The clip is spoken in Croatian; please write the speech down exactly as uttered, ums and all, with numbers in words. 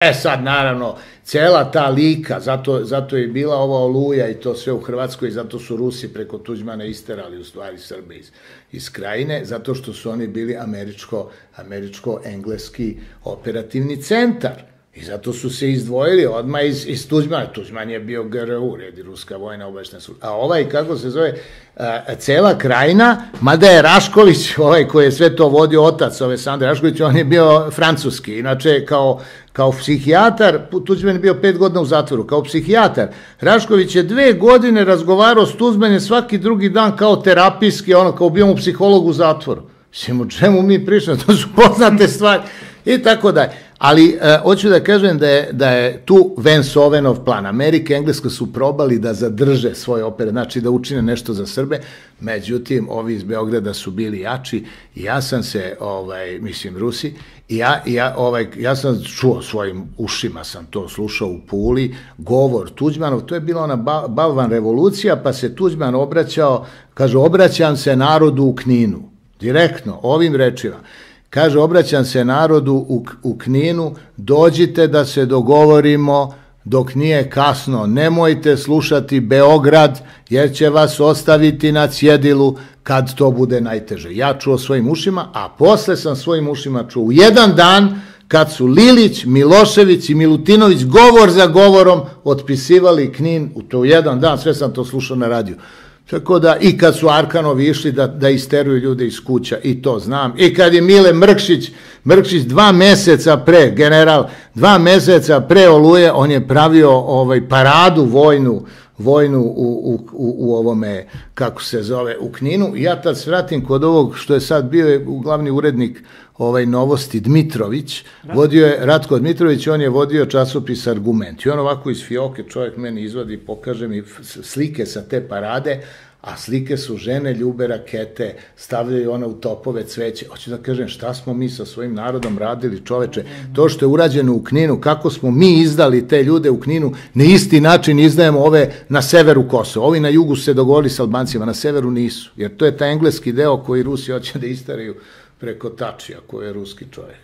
E sad, naravno, cela ta lika, zato, zato je bila ova Oluja i to sve u Hrvatskoj, zato su Rusi preko Tuđmana isterali u stvari Srbe iz, iz Krajine, zato što su oni bili američko, američko-engleski operativni centar. I zato su se izdvojili odmah iz, iz Tuđmana. Tuđman je bio G R U, redi Ruska vojna obaveštajna služba. A ovaj, kako se zove, a, cela Krajina, mada je Rašković, ovaj koji je sve to vodio, otac ove Sandre Rašković, on je bio francuski. Inače, kao, kao psihijatar, Tuđman je bio pet godina u zatvoru, kao psihijatar. Rašković je dve godine razgovarao s Tuđmanom svaki drugi dan kao terapijski, ono, kao bio mu psiholog u zatvoru. Mislim, o čemu mi pričamo, to su poznate stvari. I tako da je. Ali e, hoću da kažem da je, da je tu Vance-Owenov plan. Amerika i Engleska su probali da zadrže svoje opere, znači da učine nešto za Srbe, međutim, ovi iz Beograda su bili jači i ja sam se, ovaj, mislim, Rusi, i ja, ja, ovaj, ja sam čuo svojim ušima, sam to slušao u Puli, govor Tuđmanov, to je bila ona ba, balvan revolucija, pa se Tuđman obraćao, kaže, obraćam se narodu u Kninu, direktno, ovim rečima. Kaže, obraćam se narodu u, u Kninu, dođite da se dogovorimo dok nije kasno, nemojte slušati Beograd jer će vas ostaviti na cjedilu kad to bude najteže. Ja čuo svojim ušima, a posle sam svojim ušima čuo u jedan dan kad su Lilić, Milošević i Milutinović govor za govorom otpisivali Knin, u to jedan dan, sve sam to slušao na radiju. Tako da, i kad su Arkanovi išli da, da isteruju ljude iz kuća, i to znam, i kad je Mile Mrkšić, Mrkšić dva meseca pre, general, dva meseca pre Oluje, on je pravio ovaj, paradu vojnu, vojnu u, u, u, u ovome, kako se zove, u Kninu. I ja tad svratim kod ovog što je sad bio je glavni urednik ovaj Novosti Dmitrović, vodio je Ratko Dmitrović, on je vodio časopis Argument. I on ovako iz fioke čovjek meni izvadi, pokaže mi slike sa te parade, a slike su žene ljube rakete, stavljaju ona u topove cveće. Hoću da kažem, šta smo mi sa svojim narodom radili, čoveče? To što je urađeno u Kninu, kako smo mi izdali te ljude u Kninu, na isti način izdajemo ove na severu Kosova. Ovi na jugu su se dogovorili s Albancima, na severu nisu. Jer to je taj engleski deo koji Rusi hoće da istaraju preko Tačija, koji je ruski čovjek.